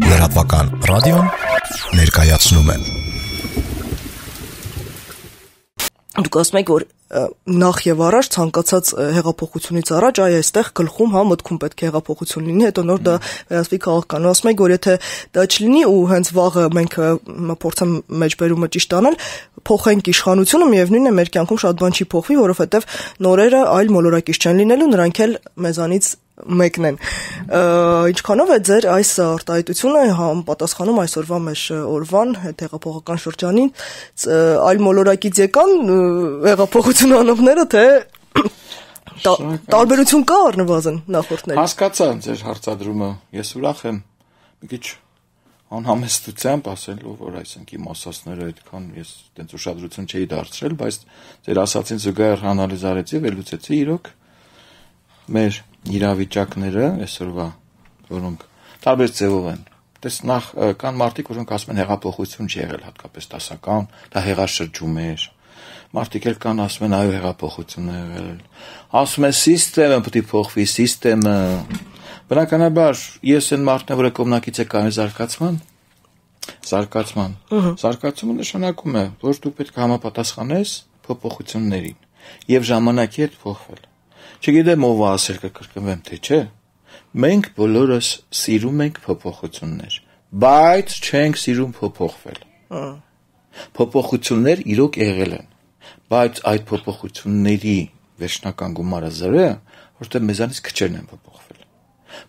Լրատվական ռադիոն ներկայացնում է։ Դուք ասում եք, որ նախ եւ առաջ ցանկացած հեղափոխությունից առաջ այստեղ գլխում մտքում պետք է հեղափոխություն լինի, հետո նոր դա վերածվի քաղաքական։ Ասում եք, որ եթե դա չլինի ու հենց վաղը մենք փորձեմ մեջբերումը ճիշտ անել, փոխենք իշխանությունը, միևնույնն է մեր կյանքում շատ բան չի փոխվի, որովհետեւ նորերը այլ մոլորակից չեն լինելու, նրանք էլ մեզանից մեկն են։ Ինչքանով է ձեր այս արտահայտությունը պատասխանում այսօրվա մեր օրվան հեղափոխական շրջանին, այլ մոլորակից եկան հեղափոխություն անողները, թե տարբերություն կա առնվազն նախորդների։ Հասկացա ձեր հարցադրումը, ես ուրախ եմ մի քիչ անհամեստությամբ ասելու, որ այսինքն իմ ասածները այդքան ես այդպես ուշադրություն չէի դարձրել, բայց ձեր ասածին զուգահեռ անալիզ արեցի, վերլուծեցի իրոք մեր իրավիճակները այսօրվա, որոնք տարբեր ձևով են։ Դες նախ կան մարդիկ, որոնք ասում են հեղափոխություն չի եղել հատկապես դասական, դա հեղաշրջում էր։ Մարդիկ էլ կան ասում են այո հեղափոխություն է եղել։ Ասում են սիստեմը պետք է փոխվի, սիստեմը։ Բնականաբար ես այն մարդն եմ, որը կողմնակից է կայուն զարգացման։ Զարգացումը նշանակում է, որ դու պետք է համապատասխանես փոփոխություններին եւ ժամանակի հետ փոխվել։ Չգիտեմ ով ասել կկրկնվեմ թե չէ, մենք բոլորս սիրում ենք փոփոխություններ, բայց չենք սիրում փոփոխվել։ Փոփոխություններ իրոք եղել են, բայց այդ փոփոխությունների վերջնական գումարը 0 է, որտեղ մեզանից քչերն են փոփոխվել։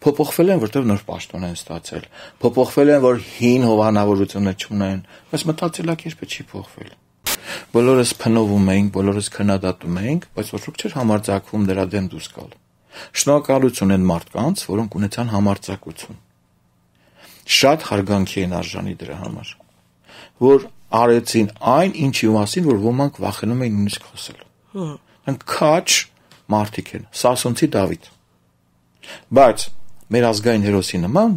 Փոփոխվել են, որտեղ նոր պաշտոն են ստացել, փոփոխվել են, որ հին հովանավորությունը չունեն, բայց մտածելակերպը չի փոխվել։ Բոլորս փնովում ենք, բոլորս քննադատում ենք, բայց ոչ ոք չէր համարձակվում դրա դեմ դուրս գալ։ Շնորհակալություն են մարդկանց, որոնք ունեցան համարձակություն։ Շատ հարգանքի են արժանի դրա համար, որ արեցին այն, ինչի մասին, որ ոմանք վախենում էին նույնիսկ խոսել։ Նրանք քաչ մարդիկ են, Սասունցի Դավիթ։ Բայց մեր ազգային հերոսի նման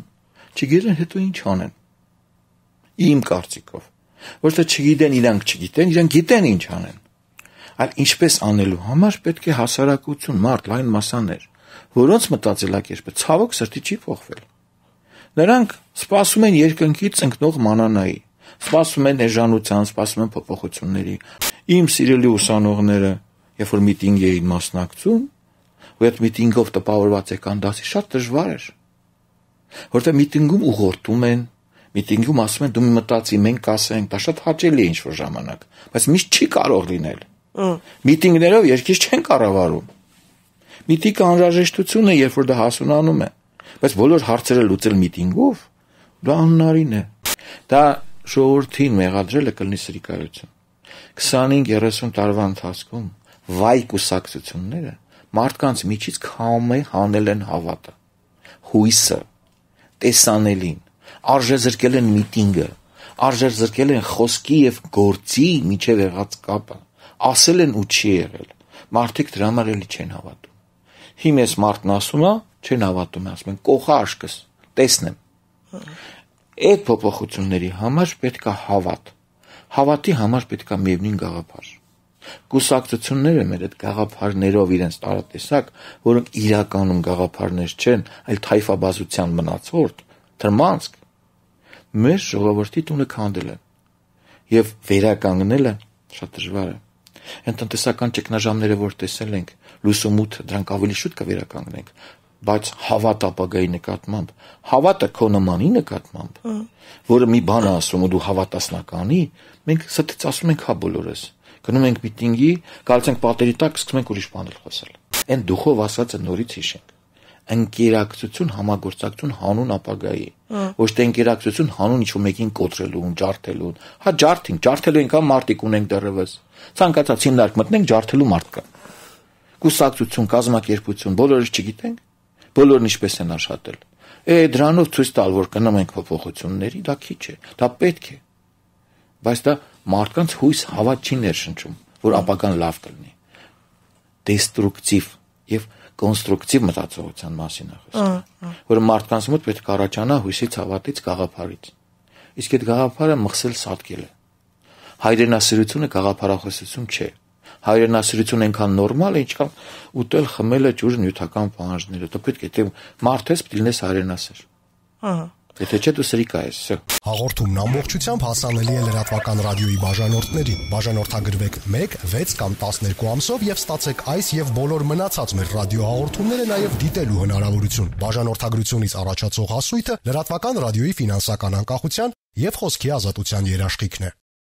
չգիտեն հետո ինչ անեն։ Իմ կարծիքով ոչ թե չգիտեն, իրանք չգիտեն, իրանք գիտեն ինչ անեն։ Այլ ինչպես անելու համար պետք է հասարակություն, մարդ, լայն մասաներ, որոնց մտածելակերպը ցավոք սրտի չի փոխվել։ Նրանք սպասում են երկնքից ընկնող մանանայի, սպասում են էժանության, սպասում են փոփոխությունների։ Իմ սիրելի ուսանողները, երբ որ միտինգ էին մասնակցում, ու այդ միտինգով տպավորված եկան դասի, շատ դժվար էր։ Որտեղ միտինգում ուղղորդում են, միտինգում ասում են դու մտածի, մենք կասենք, դա շատ հաճելի է ինչ-որ ժամանակ, բայց միշտ չի կարող լինել։ Միտինգներով երկիր չեն կառավարում։ Միտինգը անհրաժեշտություն է, երբ որ դա հասունանում է, բայց բոլոր հարցերը լուծել միտինգով դա անհնարին է։ Դա ժողովրդին մեղադրելը կլինի սրիկայություն։ 25-30 տարվա ընթացքում վայ կուսակցությունները մարդկանց միջից քամե հանել են հավատը, հույսը, տեսանելին, արժեզրկել են միտինգը, արժեզրկել են խոսքի եւ գործի միջև եղած կապը, ասել են ու չի եղել։ Մարդիկ դրա համար էլի չեն հավատում։ Հիմա ես մարդն ասում է, չեն հավատում, ասում են կողա աշկս, տեսնեմ։ Այդ փոփոխությունների համար պետք է հավատ։ Հավատի համար պետք է միևնույն գաղափար։ Կուսակցությունները մեր այդ գաղափարներով իրենց տարատեսակ, որոնք իրականում գաղափարներ չեն, այլ թայֆաբազության մնացորդ, թրմանցք, մեր ժողովրդի տունը քանդել են եւ վերականգնելը շատ դժվար է։ Այն տնտեսական ճգնաժամերը, որ տեսել ենք, լուսումութ դրանք ավելի շուտ կվերականգնենք, բայց հավատ ապագայի նկատմամբ, հավատը քո նմանի նկատմամբ, որը մի բան ասում ու դու հավատասնականի, մենք ստից ասում ենք հա բոլորս։ Գնում ենք միտինգի, գալիս ենք պատերի տակ, սկսում ենք ուրիշ բաներ խոսել։ Այն դուխով ասածը նորից հիշենք։ Ընկերակցություն, համագործակցություն հանուն ապագայի։ Ոչ թե ընկերակցություն հանուն ինչ-որ մեկին կոտրելուն, ջարդելուն։ Հա ջարդելու ենք մարդիկ ունենք դեռևս։ Ցանկացած հիմնարկ մտնենք ջարդելու մարդ կա։ Կուսակցություն, կազմակերպություն, բոլորս չգիտենք, բոլորն ինչպես են աշխատել։ Դրանով ցույց տալ, որ կնամ ենք փոփոխությունների, դա քիչ է, դա պետք է։ Բայց դա մարդկանց հույս հավատ չի ներշնչում, որ ապագան լավ կլինի։ Դեստրուկտիվ եւ կոնստրուկտիվ մտածողության մասին է խոսքը, որ մարդկանց մոտ պետք է առաջանա հույսից, հավատից, գաղափարից։ Իսկ այդ գաղափարը մխսել սատկել է։ Հայրենասիրությունը գաղափարախոսություն չէ։ Հայրենասիրությունը այնքան նորմալ է, ինչքան ուտել, խմելը, ջուրը, նյութական պահանջները։ Դա պետք է թե մարդ ես, պետք է լինես հայրենասեր։ Եթե չէ դու սրիկա ես, всё։ Հաղորդումն ամբողջությամբ հասանելի է լրատվական ռադիոյի բաժանորդներին։ Բաժանորդագրվեք 1, 6 կամ 12 ամսով եւ ստացեք այս եւ բոլոր մնացած մեր ռադիոհաղորդումները նաեւ դիտելու հնարավորություն։ Բաժանորդագրությունից առաջացող հասույթը լրատվական ռադիոյի ֆինանսական անկախության եւ խոսքի ազատության երաշխիքն է։